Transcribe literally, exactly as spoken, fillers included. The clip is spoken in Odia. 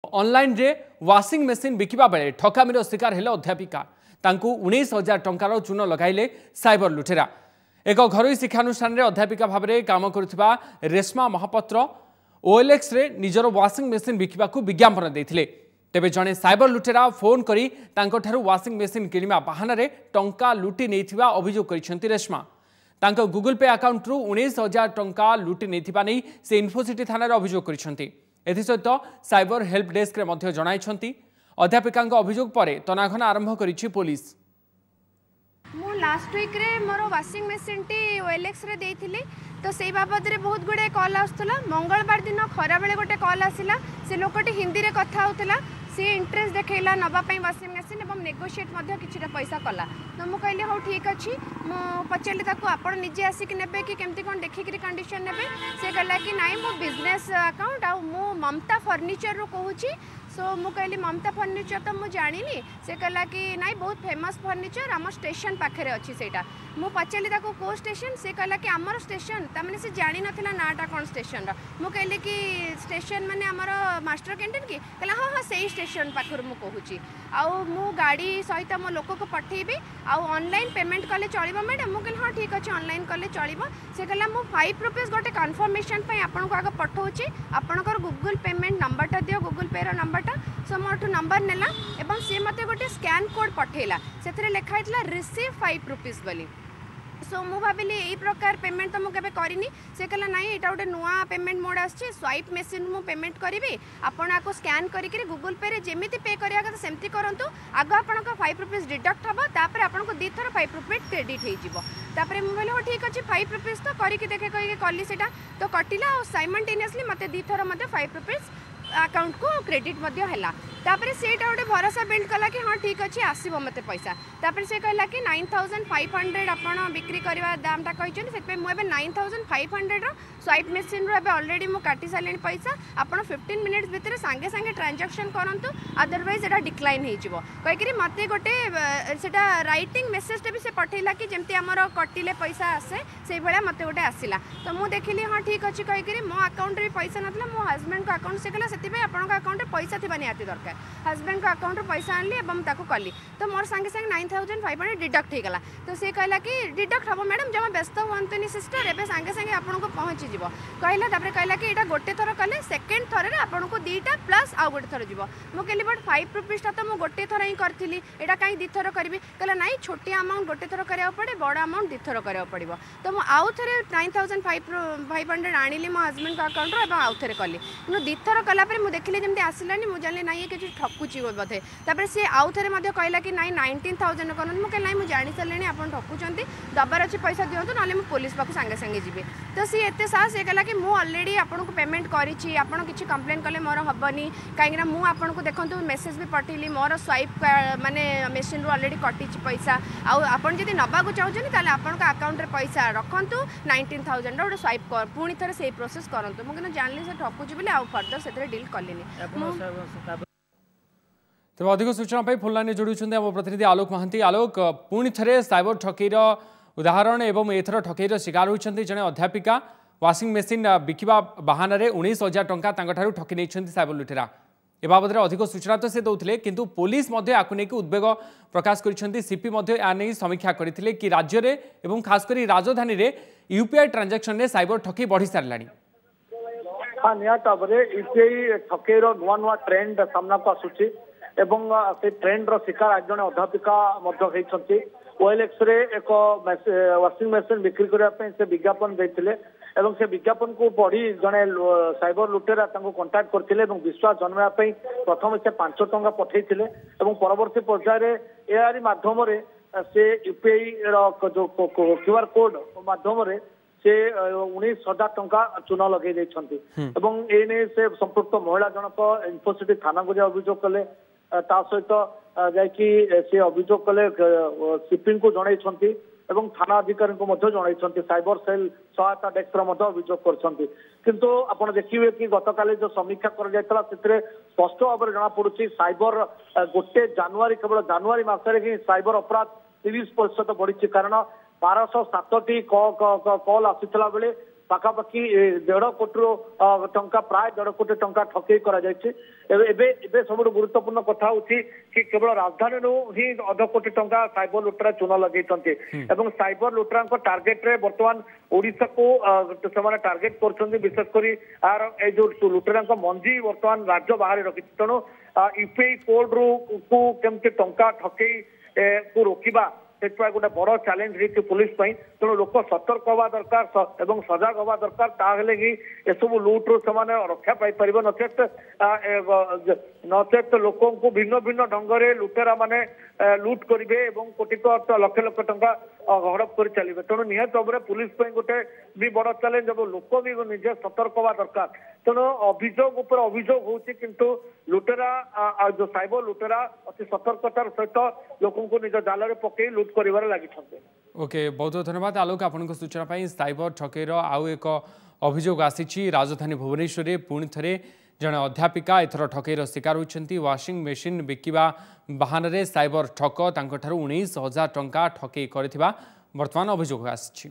ଅନଲାଇନରେ ୱାସିଂ ମେସିନ୍ ବିକିବା ବେଳେ ଠକାମିର ଶିକାର ହେଲେ ଅଧ୍ୟାପିକା। ତାଙ୍କୁ ଉଣେଇଶ ହଜାର ଟଙ୍କାର ଚୂନ ଲଗାଇଲେ ସାଇବର ଲୁଟେରା। ଏକ ଘରୋଇ ଶିକ୍ଷାନୁଷ୍ଠାନରେ ଅଧ୍ୟାପିକା ଭାବରେ କାମ କରୁଥିବା ରେଶମା ମହାପାତ୍ର ଓଏଲ୍ଏକ୍ସରେ ନିଜର ୱାସିଂ ମେସିନ୍ ବିକିବାକୁ ବିଜ୍ଞାପନ ଦେଇଥିଲେ। ତେବେ ଜଣେ ସାଇବର ଲୁଟେରା ଫୋନ୍ କରି ତାଙ୍କଠାରୁ ୱାସିଂ ମେସିନ୍ କିଣିବା ବାହାନାରେ ଟଙ୍କା ଲୁଟି ନେଇଥିବା ଅଭିଯୋଗ କରିଛନ୍ତି ରେଶମା। ତାଙ୍କ ଗୁଗୁଲ ପେ ଆକାଉଣ୍ଟରୁ ଉଣେଇଶ ହଜାର ଟଙ୍କା ଲୁଟି ନେଇଥିବା ନେଇ ସେ ଇନଫୋସିଟି ଥାନାରେ ଅଭିଯୋଗ କରିଛନ୍ତି। ଏଥିସହିତ ସାଇବର ହେଲ୍ପ ଡେସ୍କରେ ମଧ୍ୟ ଜଣାଇଛନ୍ତି। ଅଧ୍ୟାପିକାଙ୍କ ଅଭିଯୋଗ ପରେ ତନାଘନା ଆରମ୍ଭ କରିଛି ପୋଲିସ। ମୁଁ ଲାଷ୍ଟ ୱିକ୍ରେ ମୋର ୱାସିଂ ମେସିନ୍ଟି ଓଏଲ୍ଏକ୍ସରେ ଦେଇଥିଲି, ତ ସେଇ ବାବଦରେ ବହୁତ ଗୁଡ଼ିଏ କଲ୍ ଆସୁଥିଲା। ମଙ୍ଗଳବାର ଦିନ ଖରାବେଳେ ଗୋଟେ କଲ୍ ଆସିଲା। ସେ ଲୋକଟି ହିନ୍ଦୀରେ କଥା ହେଉଥିଲା। ସିଏ ଇଣ୍ଟରେଷ୍ଟ ଦେଖେଇଲା ନେବା ପାଇଁ ୱାସିଂ ମେସିନ୍ ଏବଂ ନେଗୋସିଏଟ୍ ମଧ୍ୟ କିଛିଟା ପଇସା କଲା। ତ ମୁଁ କହିଲି ହଉ ଠିକ୍ ଅଛି। ମୁଁ ପଚାରିଲି ତାକୁ, ଆପଣ ନିଜେ ଆସିକି ନେବେ କି କେମିତି କ'ଣ ଦେଖିକିରି କଣ୍ଡିସନ୍ ନେବେ? ସେ କହିଲା କି ନାଇଁ, ମୋ ବିଜନେସ୍ ଆକାଉଣ୍ଟ ଆଉ ମୁଁ ମମତା ଫର୍ଣ୍ଣିଚରରୁ କହୁଛି। ସୋ ମୁଁ କହିଲି ମମତା ଫର୍ଣ୍ଣିଚର ତ ମୁଁ ଜାଣିନି। ସେ କହିଲା କି ନାଇଁ, ବହୁତ ଫେମସ୍ ଫର୍ଣ୍ଣିଚର, ଆମ ଷ୍ଟେସନ ପାଖରେ ଅଛି ସେଇଟା। ମୁଁ ପଚାରିଲି ତାକୁ କେଉଁ ଷ୍ଟେସନ? ସେ କହିଲା କି ଆମର ଷ୍ଟେସନ, ତାମାନେ ସେ ଜାଣିନଥିଲା ନାଁଟା କ'ଣ ଷ୍ଟେସନର। ମୁଁ କହିଲି କି ଷ୍ଟେସନ ମାନେ ଆମର ମାଷ୍ଟର କ୍ୟାଣ୍ଟିନ୍ କି? କହିଲା ହଁ ହଁ, ସେଇ ଷ୍ଟେସନ ପାଖରୁ ମୁଁ କହୁଛି, ଆଉ ମୁଁ ଗାଡ଼ି ସହିତ ମୋ ଲୋକକୁ ପଠେଇବି, ଆଉ ଅନଲାଇନ୍ ପେମେଣ୍ଟ କଲେ ଚଳିବ ମ୍ୟାଡ଼ାମ୍? ମୁଁ କହିଲି ହଁ ଠିକ୍ ଅଛି, ଅନଲାଇନ୍ କଲେ ଚଳିବ। ସେ କହିଲା ମୁଁ ଫାଇଭ୍ ରୁପିଜ୍ ଗୋଟେ କନଫର୍ମେସନ୍ ପାଇଁ ଆପଣଙ୍କୁ ଆଗ ପଠଉଛି, ଆପଣଙ୍କର ଗୁଗୁଲ୍ ପେମେଣ୍ଟ ନମ୍ବରଟା ଦିଅ, ଗୁଗୁଲ୍ ପେର ନମ୍ବରଟା। ସୋ ମୋଠୁ ନମ୍ବର ନେଲା ଏବଂ ସିଏ ମୋତେ ଗୋଟେ ସ୍କାନ୍ କୋଡ଼୍ ପଠେଇଲା। ସେଥିରେ ଲେଖା ହେଇଥିଲା ରିସିଭ୍ ଫାଇଭ୍ ରୁପିଜ୍ ବୋଲି। ସୋ ମୁଁ ଭାବିଲି ଏଇ ପ୍ରକାର ପେମେଣ୍ଟ ତ ମୁଁ କେବେ କରିନି। ସେ କହିଲା ନାଇଁ, ଏଇଟା ଗୋଟେ ନୂଆ ପେମେଣ୍ଟ ମୋଡ଼ ଆସିଛି, ସ୍ୱାଇପ୍ ମେସିନ୍ ମୁଁ ପେମେଣ୍ଟ କରିବି, ଆପଣ ଆକୁ ସ୍କାନ୍ କରିକିରି ଗୁଗୁଲ୍ ପେରେ ଯେମିତି ପେ କରିବା କଥା ସେମିତି କରନ୍ତୁ। ଆଗ ଆପଣଙ୍କ ଫାଇଭ୍ ରୁପିଜ୍ ଡିଡକ୍ଟ ହେବ, ତାପରେ ଆପଣଙ୍କୁ ଦୁଇଥର ଫାଇଭ୍ ରୁପିଜ୍ କ୍ରେଡ଼ିଟ୍ ହେଇଯିବ। ତାପରେ ମୁଁ କହିଲି ହଉ ଠିକ୍ ଅଛି, ଫାଇଭ୍ ରୁପିଜ୍ ତ କରିକି ଦେଖେ କହିକି କଲି। ସେଇଟା ତ କଟିଲା ଆଉ ସାଇମଲ୍ଟେନିୟସଲି ମୋତେ ଦୁଇଥର ମଧ୍ୟ ଫାଇଭ୍ ରୁପିଜ୍ ଆକାଉଣ୍ଟକୁ କ୍ରେଡ଼ିଟ୍ ମଧ୍ୟ ହେଲା। ତାପରେ ସେଇଟା ଗୋଟେ ଭରସା ବିଲ୍ଡ କଲା କି ହଁ ଠିକ୍ ଅଛି, ଆସିବ ମୋତେ ପଇସା। ତାପରେ ସେ କହିଲା କି ନାଇନ୍ ଥାଉଜେଣ୍ଡ ଫାଇଭ୍ ହଣ୍ଡ୍ରେଡ଼ ଆପଣ ବିକ୍ରି କରିବା ଦାମଟା କହିଛନ୍ତି, ସେଥିପାଇଁ ମୁଁ ଏବେ ନାଇନ୍ ଥାଉଜେଣ୍ଡ ଫାଇଭ୍ ହଣ୍ଡ୍ରେଡ଼ର ସ୍ୱାଇପ୍ ମେସିନ୍ରୁ ଏବେ ଅଲରେଡ଼ି ମୁଁ କାଟି ସାରିଲିଣି ପଇସା, ଆପଣ ଫିଫ୍ଟିନ୍ ମିନିଟ୍ସ ଭିତରେ ସାଙ୍ଗେ ସାଙ୍ଗେ ଟ୍ରାଞ୍ଜାକ୍ସନ୍ କରନ୍ତୁ, ଅଦରୱାଇଜ୍ ଏଇଟା ଡିକ୍ଲାଇନ୍ ହେଇଯିବ କହିକିରି ମୋତେ ଗୋଟେ ସେଇଟା ରାଇଟିଂ ମେସେଜଟା ବି ସେ ପଠେଇଲା କି ଯେମିତି ଆମର କଟିଲେ ପଇସା ଆସେ ସେଇଭଳିଆ ମୋତେ ଗୋଟେ ଆସିଲା। ତ ମୁଁ ଦେଖିଲି ହଁ ଠିକ୍ ଅଛି କହିକିରି, ମୋ ଆକାଉଣ୍ଟରେ ବି ପଇସା ନଥିଲା, ମୋ ହଜବେଣ୍ଡଙ୍କ ଆକାଉଣ୍ଟ, ସେ କହିଲା ସେଥିପାଇଁ ଆପଣଙ୍କ ଆକାଉଣ୍ଟରେ ପଇସା ଥିବା ନିହାତି ଦରକାର। ହଜବେଣ୍ଡଙ୍କ ଆକାଉଣ୍ଟରୁ ପଇସା ଆଣିଲି ଏବଂ ତାକୁ କଲି, ତ ମୋର ସାଙ୍ଗେ ସାଙ୍ଗେ nine thousand five hundred deduct ହେଇଗଲା। ତ ସେ କହିଲା କି ଡିଡକ୍ଟ ହେବ ମ୍ୟାଡ଼ାମ୍, ଜମା ବ୍ୟସ୍ତ ହୁଅନ୍ତୁନି ସିଷ୍ଟର, ଏବେ ସାଙ୍ଗେ ସାଙ୍ଗେ ଆପଣଙ୍କୁ ପହଞ୍ଚିଯିବ କହିଲା। ତାପରେ କହିଲା କି ଏଇଟା ଗୋଟେ ଥର କଲେ ସେକେଣ୍ଡ ଥରରେ ଆପଣଙ୍କୁ ଦୁଇଟା ପ୍ଲସ୍ ଆଉ ଗୋଟେ ଥର ଯିବ। ମୁଁ କହିଲି ବଟ୍ ଫାଇଭ୍ ରୁପିଜ୍ଟା ତ ମୁଁ ଗୋଟେ ଥର ହିଁ କରିଥିଲି, ଏଇଟା କାହିଁ ଦୁଇଥର କରିବି? କହିଲା ନାଇଁ, ଛୋଟିଆ ଆମାଉଣ୍ଟ ଗୋଟେ ଥର କରିବାକୁ ପଡ଼େ, ବଡ଼ ଆମାଉଣ୍ଟ ଦୁଇଥର କରିବାକୁ ପଡ଼ିବ। ତ ମୁଁ ଆଉ ଥରେ nine thousand five five hundred ଆଣିଲି ମୋ ହଜବେଣ୍ଡଙ୍କ ଆକାଉଣ୍ଟରୁ ଏବଂ ଆଉ ଥରେ କଲି। କିନ୍ତୁ ଦୁଇଥର କଲା ପରେ ମୁଁ ଦେଖିଲି ଯେମିତି ଆସିଲାନି, ମୁଁ ଜାଣିଲି ନାଇଁ, ଇଏ କିଛି ଠକୁଛି ବୋଧେ। ତାପରେ ସିଏ ଆଉ ଥରେ ମଧ୍ୟ କହିଲା କି ନାଇଁ, ନାଇନଟିନ୍ ଥାଉଜେଣ୍ଡ କରନ୍ତୁ। ମୁଁ କହିଲି ନାଇଁ, ମୁଁ ଜାଣିସାରିଲିଣି ଆପଣ ଠକୁଛନ୍ତି, ଦେବାର ଅଛି ପଇସା ଦିଅନ୍ତୁ, ନହେଲେ ମୁଁ ପୋଲିସ ପାଖକୁ ସାଙ୍ଗେ ସାଙ୍ଗେ ଯିବି। ତ ସିଏ ଏତେ ସାହସ, ସିଏ କହିଲା କି ମୁଁ ଅଲରେଡ଼ି ଆପଣଙ୍କୁ ପେମେଣ୍ଟ କରିଛି, ଆପଣ କିଛି କମ୍ପ୍ଲେନ୍ କଲେ ମୋର ହେବନି, କାହିଁକିନା ମୁଁ ଆପଣଙ୍କୁ ଦେଖନ୍ତୁ ମେସେଜ୍ ବି ପଠେଇଲି, ମୋର ସ୍ୱାଇପ୍ ମାନେ ମେସିନ୍ରୁ ଅଲରେଡ଼ି କଟିଛି ପଇସା, ଆଉ ଆପଣ ଯଦି ନେବାକୁ ଚାହୁଁଛନ୍ତି ତାହେଲେ ଆପଣଙ୍କ ଆକାଉଣ୍ଟରେ ପଇସା ରଖନ୍ତୁ, ନାଇନଟିନ୍ ଥାଉଜେଣ୍ଡର ଗୋଟେ ସ୍ୱାଇପ୍ ପୁଣି ଥରେ ସେଇ ପ୍ରୋସେସ୍ କରନ୍ତୁ। ମୁଁ କିନ୍ତୁ ଜାଣିଲି ସେ ଠକୁଛି ବୋଲି ଆଉ ଫର୍ଦର ସେଥିରେ ଡିଲ୍ କଲିନି ମୁଁ। ତେବେ ଅଧିକ ସୂଚନା ପାଇଁ ଫୋନ୍ ଲାଇନ୍ରେ ଯୋଡ଼ୁଛନ୍ତି ଆମ ପ୍ରତିନିଧି ଆଲୋକ ମହାନ୍ତି। ଆଲୋକ, ପୁଣି ଥରେ ସାଇବର ଠକେଇର ଉଦାହରଣ ଏବଂ ଏଥର ଠକେଇର ଶିକାର ହୋଇଛନ୍ତି ଜଣେ ଅଧ୍ୟାପିକା। ୱାସିଂ ମେସିନ୍ ବିକିବା ବାହାନାରେ ଉଣେଇଶ ହଜାର ଟଙ୍କା ତାଙ୍କଠାରୁ ଠକି ନେଇଛନ୍ତି ସାଇବର ଲୁଟେରା। ଏ ବାବଦରେ ଅଧିକ ସୂଚନା ତ ସେ ଦେଉଥିଲେ, କିନ୍ତୁ ପୋଲିସ ମଧ୍ୟ ୟାକୁ ନେଇକି ଉଦ୍ବେଗ ପ୍ରକାଶ କରିଛନ୍ତି। ସିପି ମଧ୍ୟ ଏହା ନେଇ ସମୀକ୍ଷା କରିଥିଲେ କି ରାଜ୍ୟରେ ଏବଂ ଖାସ କରି ରାଜଧାନୀରେ ୟୁପିଆଇ ଟ୍ରାଞ୍ଜାକ୍ସନରେ ସାଇବର ଠକେଇ ବଢ଼ି ସାରିଲାଣି। ହଁ, ନିହାତି ଭାବରେ ୟୁପିଆଇ ଠକେଇର ନୂଆ ନୂଆ ଟ୍ରେଣ୍ଡ ସାମ୍ନାକୁ ଆସୁଛି ଏବଂ ସେ ଟ୍ରେଣ୍ଡର ଶିକାର ଆଜି ଜଣେ ଅଧ୍ୟାପିକା ମଧ୍ୟ ହେଇଛନ୍ତି। ଓଏଲ୍ଏକ୍ସରେ ଏକ ୱାସିଂ ମେସିନ୍ ବିକ୍ରି କରିବା ପାଇଁ ସେ ବିଜ୍ଞାପନ ଦେଇଥିଲେ ଏବଂ ସେ ବିଜ୍ଞାପନକୁ ପଢି ଜଣେ ସାଇବର ଲୁଟେରା ତାଙ୍କୁ କଣ୍ଟାକ୍ଟ କରିଥିଲେ ଏବଂ ବିଶ୍ୱାସ ଜନ୍ମାଇବା ପାଇଁ ପ୍ରଥମେ ସେ ପାଞ୍ଚ ଟଙ୍କା ପଠେଇଥିଲେ ଏବଂ ପରବର୍ତ୍ତୀ ପର୍ଯ୍ୟାୟରେ ଏହାରି ମାଧ୍ୟମରେ ସେ ୟୁପିଆଇ ର ଯୋଉ କ୍ୟୁଆର କୋଡ୍ ମାଧ୍ୟମରେ ସେ ଉଣେଇଶ ହଜାର ଟଙ୍କା ଚୂନ ଲଗେଇ ଦେଇଛନ୍ତି। ଏବଂ ଏ ନେଇ ସେ ସମ୍ପୃକ୍ତ ମହିଳା ଜଣକ ଇନଫୋସିଟି ଥାନାକୁ ଯାଇ ଅଭିଯୋଗ କଲେ, ତା ସହିତ ଯାଇକି ସେ ଅଭିଯୋଗ କଲେ, ସିପିଙ୍କୁ ଜଣାଇଛନ୍ତି ଏବଂ ଥାନା ଅଧିକାରୀଙ୍କୁ ମଧ୍ୟ ଜଣାଇଛନ୍ତି, ସାଇବର ସେଲ୍ ସହାୟତା ଡେସ୍କରେ ମଧ୍ୟ ଅଭିଯୋଗ କରିଛନ୍ତି। କିନ୍ତୁ ଆପଣ ଦେଖିବେ କି ଗତକାଲି ଯୋଉ ସମୀକ୍ଷା କରାଯାଇଥିଲା ସେଥିରେ ସ୍ପଷ୍ଟ ଭାବରେ ଜଣାପଡୁଛି ସାଇବର ଗୋଟେ ଜାନୁଆରୀ, କେବଳ ଜାନୁଆରୀ ମାସରେ ହିଁ ସାଇବର ଅପରାଧ ତିରିଶ ପ୍ରତିଶତ ବଢିଛି। କାରଣ ବାରଶହ ସାତଟି କଲ୍ ଆସିଥିଲା ବେଳେ ପାଖାପାଖି ଦେଢ଼ କୋଟିରୁ ଟଙ୍କା, ପ୍ରାୟ ଦେଢ଼ କୋଟି ଟଙ୍କା ଠକେଇ କରାଯାଇଛି। ଏବେ ଏବେ ଏବେ ସବୁଠୁ ଗୁରୁତ୍ୱପୂର୍ଣ୍ଣ କଥା ହଉଛି କି କେବଳ ରାଜଧାନୀରୁ ହିଁ ଅଧ କୋଟି ଟଙ୍କା ସାଇବର ଲୁଟେରା ଚୂନ ଲଗେଇଛନ୍ତି, ଏବଂ ସାଇବର ଲୁଟେରାଙ୍କ ଟାର୍ଗେଟରେ ବର୍ତ୍ତମାନ ଓଡ଼ିଶାକୁ ସେମାନେ ଟାର୍ଗେଟ କରୁଛନ୍ତି। ବିଶେଷ କରି ଆର ଏଇ ଯୋଉ ଲୁଟେରାଙ୍କ ମଞ୍ଜି ବର୍ତ୍ତମାନ ରାଜ୍ୟ ବାହାରେ ରଖିଛି। ତେଣୁ ୟୁପିଆଇ କୋଡରୁ କୁ କେମିତି ଟଙ୍କା ଠକେଇ କୁ ରୋକିବା, ସେଥିପାଇଁ ଗୋଟେ ବଡ ଚ୍ୟାଲେଞ୍ଜ ହେଇଛି ପୁଲିସ ପାଇଁ। ତେଣୁ ଲୋକ ସତର୍କ ହବା ଦରକାର ଏବଂ ସଜାଗ ହବା ଦରକାର, ତାହେଲେ ହିଁ ଏସବୁ ଲୁଟରୁ ସେମାନେ ରକ୍ଷା ପାଇପାରିବେ। ନଚେତ ନଚେତ ଲୋକଙ୍କୁ ଭିନ୍ନ ଭିନ୍ନ ଢଙ୍ଗରେ ଲୁଟେରା ମାନେ ଲୁଟ କରିବେ ଏବଂ କୋଟି ଲକ୍ଷ ଲକ୍ଷ ଟଙ୍କା ହଡପ କରି ଚାଲିବେ। ତେଣୁ ନିହାତି ଭାବରେ ପୁଲିସ ପାଇଁ ଗୋଟେ ବି ବଡ ଚ୍ୟାଲେଞ୍ଜ ଏବଂ ଲୋକ ବି ନିଜେ ସତର୍କ ହବା ଦରକାର। ତେଣୁ ଅଭିଯୋଗ ଉପରେ ଅଭିଯୋଗ ହଉଛି, କିନ୍ତୁ ଲୁଟେରା, ଯୋଉ ସାଇବର ଲୁଟେରା ଅତି ସତର୍କତାର ସହିତ ଲୋକଙ୍କୁ ନିଜ ଜାଲରେ ପକେଇ ଲୁଟ କରିବାରେ ଲାଗିଛନ୍ତି। ଓକେ, ବହୁତ ବହୁତ ଧନ୍ୟବାଦ ଆଲୋକ ଆପଣଙ୍କ ସୂଚନା ପାଇଁ। ସାଇବର ଠକେଇର ଆଉ ଏକ ଅଭିଯୋଗ ଆସିଛି। ରାଜଧାନୀ ଭୁବନେଶ୍ୱରରେ ପୁଣି ଥରେ ଜଣେ ଅଧ୍ୟାପିକା ଏଥର ଠକେଇର ଶିକାର ହୋଇଛନ୍ତି। ୱାସିଂ ମେସିନ୍ ବିକିବା ବାହାନାରେ ସାଇବର ଠକ ତାଙ୍କଠାରୁ ଉଣେଇଶ ହଜାର ଟଙ୍କା ଠକେଇ କରିଥିବା ବର୍ତ୍ତମାନ ଅଭିଯୋଗ ଆସିଛି।